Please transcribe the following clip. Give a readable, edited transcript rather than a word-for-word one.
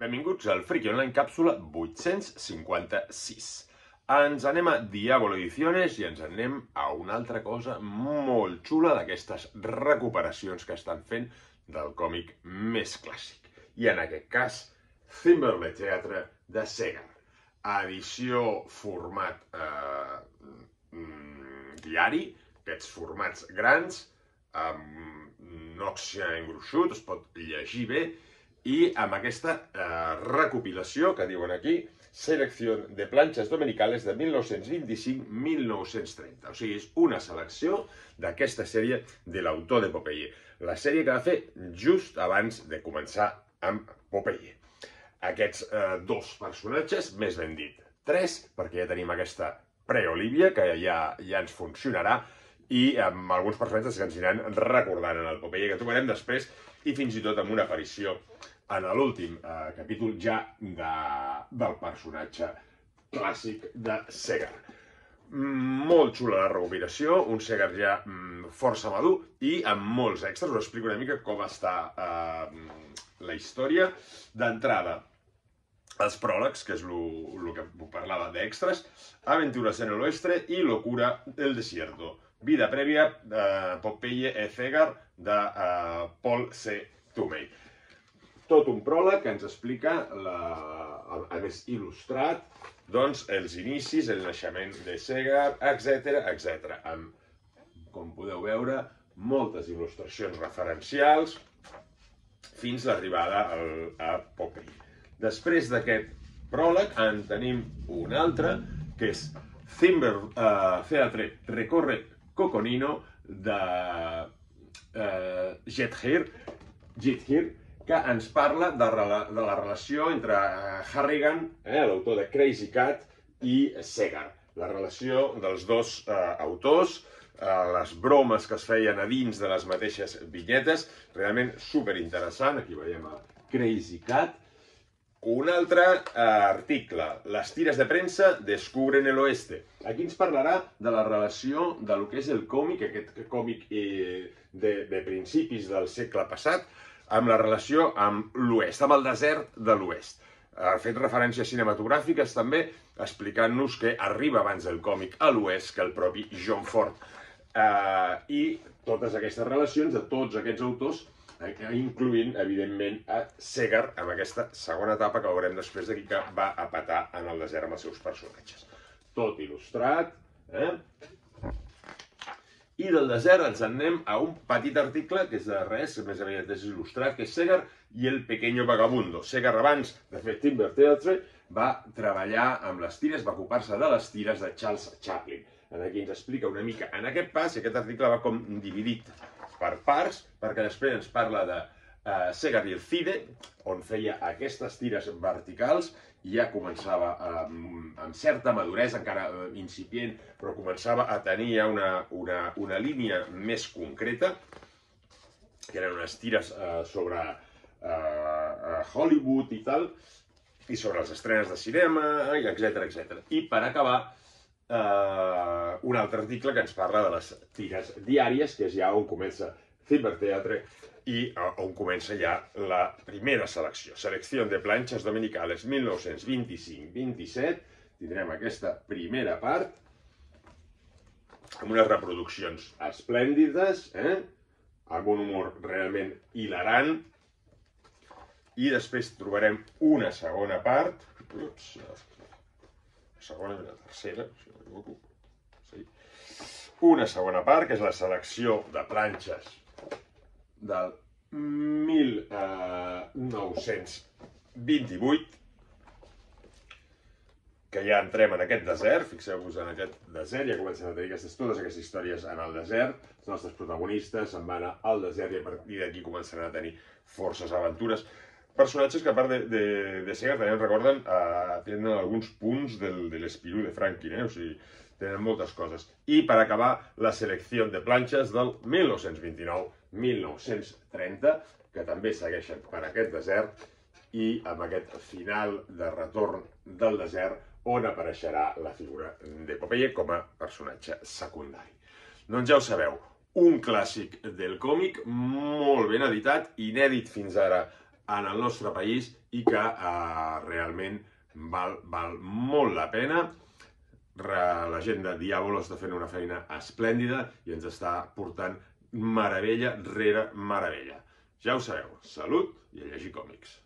Benvinguts al Friki Online càpsula 856. Ens anem a Diablo Ediciones i ens anem a una altra cosa molt xula d'aquestes recuperacions que estan fent del còmic més clàssic. I en aquest cas, Thimble Theatre de Segar. Edició format diari, aquests formats grans, amb nòxia engruixut, es pot llegir bé, i amb aquesta recopilació que diuen aquí, selecció de planxes dominicales de 1925-1930. O sigui, és una selecció d'aquesta sèrie de l'autor de Popeye. La sèrie que va fer just abans de començar amb Popeye. Aquests dos personatges, més ben dit, tres, perquè ja tenim aquesta pre-Olivia, que ja ens funcionarà, i amb alguns personatges que ens aniran recordant en el Popeye que trobarem després, i fins i tot amb una aparició en l'últim capítol ja del personatge clàssic de Segar. Molt xula la recopilació, un Segar ja força madur i amb molts extras. Us explico una mica com està la història. D'entrada, els pròlegs, que és el que parlava d'extras, Aventuras en el Oeste i Locura del Desierto. Vida prèvia de Popeye e Segar de Paul C. Toomey. Tot un pròleg que ens explica, a més il·lustrat, doncs, els inicis, el naixement de Segar, etc. Amb, com podeu veure, moltes il·lustracions referencials fins l'arribada a Popeye. Després d'aquest pròleg en tenim un altre, que és Thimble Theatre Recorre Coconino de Jet Heer, que ens parla de la relació entre Harrigan, l'autor de Crazy Cat, i Segar. La relació dels dos autors, les bromes que es feien a dins de les mateixes vinyetes, realment superinteressant. Aquí veiem a Crazy Cat. Un altre article, les tires de premsa descubren el oeste. Aquí ens parlarà de la relació de lo que és el còmic, aquest còmic de principis del segle passat, amb la relació amb l'oest, amb el desert de l'oest. Ha fet referències cinematogràfiques també, explicant-nos que arriba abans el còmic a l'oest que el propi John Ford. I totes aquestes relacions de tots aquests autors, incloent, evidentment, a Segar, amb aquesta segona etapa que veurem després d'aquí, que va a petar en el desert amb els seus personatges. Tot il·lustrat. I del desert ens anem a un petit article, que és de res, més aviat és il·lustrat, que és Segar i el pequeño vagabundo. Segar, abans de fer Thimble Theatre, va treballar amb les tires, va ocupar-se de les tires de Charles Chaplin. Aquí ens explica una mica en aquest pas, i aquest article va com dividit per parts, perquè després ens parla de Segar i el Cide, on feia aquestes tires verticals, i ja començava amb certa maduresa, encara incipient, però començava a tenir ja una línia més concreta, que eren unes tires sobre Hollywood i tal, i sobre les estrenes de cinema, etc. I per acabar, un altre article que ens parla de les tires diàries, que és ja on comença Thimble Theatre i on comença ja la primera selecció. Selecció de planxes dominicales 1925-27. Tindrem aquesta primera part amb unes reproduccions esplèndides, amb un humor realment hilarant. I després trobarem una segona part, la segona i la tercera, si no m'equivoco. Una segona part, que és la selecció de planxes del 1928, que ja entrem en aquest desert. Fixeu-vos en aquest desert, ja comencen a tenir totes aquestes històries en el desert. Els nostres protagonistes se'n van al desert i a partir d'aquí començaran a tenir forces aventures. Personatges que, a part de Segar, també ens recorden, tenen alguns punts de l'Espirú de Franklin, o sigui, tenen moltes coses. I per acabar, la selecció de planxes del 1929-1930, que també segueixen per aquest desert, i amb aquest final de retorn del desert, on apareixerà la figura de Popeye com a personatge secundari. Doncs ja ho sabeu, un clàssic del còmic, molt ben editat, inèdit fins ara en el nostre país i que realment val molt la pena. La gent de Diàbolo està fent una feina esplèndida i ens està portant meravella rere meravella. Ja ho sabeu, salut i a llegir còmics.